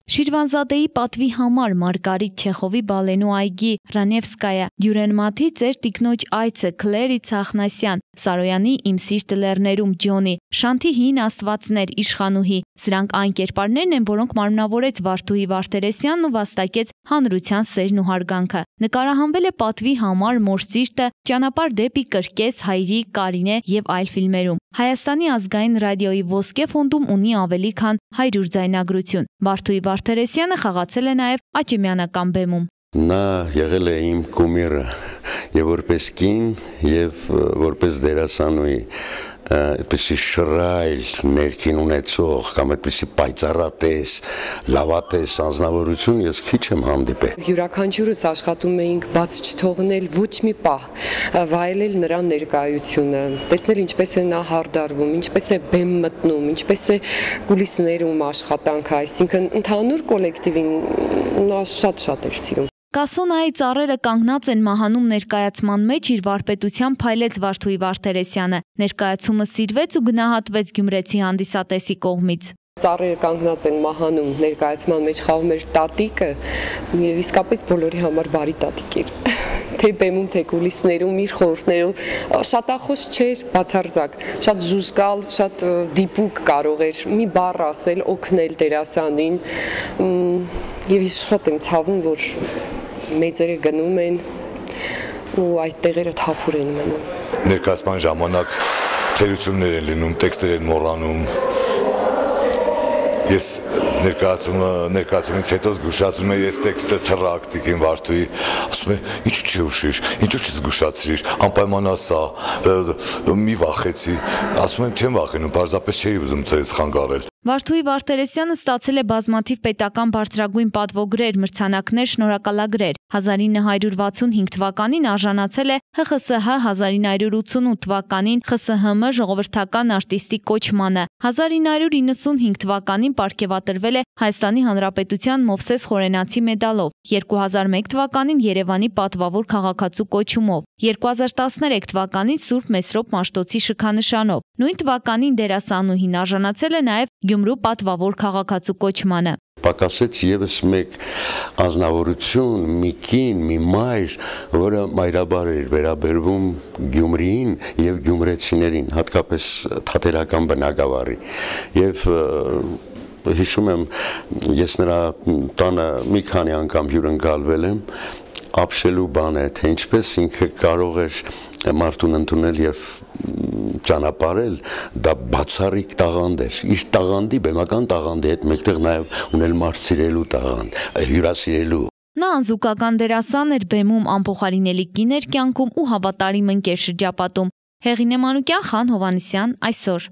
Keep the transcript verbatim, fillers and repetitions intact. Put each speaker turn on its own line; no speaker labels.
Շիրվանզադեի պատվի համար Մարգարիտ Չեխովի բալենու այգի Ռանևսկայա Դյուրենմաթի ծեր տիկնոջ այցը Քլերի Ցախնասյան Սարոյանի Իմ սիրտը լեռներում Ջոնի Շանթի հին աստվածներ իշխանուհի սրանք այն կերպարներն են, որոնք մարմնավորեց Վարդուհի Վարդերեսյանն ու վաստակեց հանրության սերն ու հարգանքը։ Նկարահանվել է պատվի համար Մոր սիրտը, Ճանապարհ դեպի կրկես, Հայրիկ, Կարինե եւ այլ ֆիլմերում։ Հայաստանի ազգային ռադիոյի Ոսկե ֆոնդում ունի ավելի քան հարյուր ձայնագրություն։ Վարդուհի Վարդերեսյանը խաղացել է նաև Աճեմյանական բեմում։
Նա եղել է իմ կումիրը եւ որպես կին եւ որպես դերասանուհի այդպիսի շռայլ ներքին ունեցող կամ այդպիսի պայծառատես, լավատես անձնավորություն ես քիչ եմ հանդիպել։
Յուրաքանչյուրս աշխատում էինք բաց չթողնել ոչ մի պահ, վայելել նրա ներկայությունը, տեսնել ինչպես է նա հարդարվում, ինչպես է բեմ մտնում, ինչպես է կուլիսներում աշխատանքը, այսինքն ընդհանուր կոլեկտիվին նա շատ-շատ էր սիրում։
Կասոնայի ծառերը կանգնած են մահանում ներկայացման մեջ իր վարպետությամբ փայլեց Վարդուհի Վարդերեսյանը։ Ներկայացումը սիրվեց ու գնահատվեց գյումրեցի հանդիսատեսի կողմից։
Ծառերը կանգնած են մահանում ներկայացման մեջ խաղում էր տատիկը եւ իսկապես բոլորի համար բարի տատիկ էր։ Թե բեմում, թե կուլիսներում, իր խորհուրդներով շատախոս չէր, բացարձակ, շատ ժուժկալ, շատ դիպուկ կարող էր մի բառ ասել, օգնել դերասանին եւ ես շատ եմ ցավում, որ մեծերը գնում են ու այդ տեղերը թափուր են մնում։
Ներկայացման ժամանակ թերություններ են լինում, տեքստեր են մոռանում։ Ես ներկայացումը ներկայացումից հետո զգուշացնում եմ ես տեքստը թռակ տիկին Վարդուհի, ասում եմ ինչու՞ չհուշիր, ինչու՞ չզգուշացրիր, անպայման ասա, մի վախեցի, ասում եմ չեմ վախենում, պարզապես չէի ուզում ձեզ խանգարել։
Վարդուհի Վարդերեսյանը ստացել է բազմաթիվ պետական բարձրագույն պատվոգրեր, մրցանակներ, շնորհակալագրեր։ հազար ինը հարյուր վաթսունհինգ թվականին արժանացել է Հ Խ Ս Հ հազար ինը հարյուր ութսունութ թվականին Խ Ս Հ Մ ժողովրդական արտիստի կոչմանը։ հազար ինը հարյուր իննսունհինգ թվականին պարգևատրվել է Հայաստանի Հանրապետության Մովսես Խորենացի մեդալով, երկու հազար մեկ թվականին Երևանի պատվավոր քաղաքացու կոչումով, երկու հազար տասներեք թվականին Սուրբ Մեսրոպ Մաշտոցի շքանշանով։ Նույն թվականին դերասանուհին արժանացել է նաև Գյումրու պատվավոր քաղաքացու կոչմանը։
Պակասեց եւս մեկ անձնավորություն, մի կին, մի մայր, որը մայրաբար էր վերաբերվում Գյումրիին եւ գյումրեցիներին, հատկապես թատերական բնակավարի։ Եվ հիշում եմ, ես նրա տանը մի քանի անգամ հյուրընկալվել եմ, ապշելու բան է, թե ինչպես ինքը կարող էր մարդուն ընդունել եւ ճանապարհել, դա բացառիկ տաղանդ էր, իր տաղանդի, բեմական տաղանդի հետ մեկտեղ նաեւ ունել մարդ սիրելու տաղանդ, հյուրասիրելու։
Նա անզուգական դերասան էր բեմում, անփոխարինելի կին էր կյանքում ու հավատարիմ ընկեր շրջապատում։ Հեղինե Մանուկյան, Խան Հովհաննիսյան, այսօր։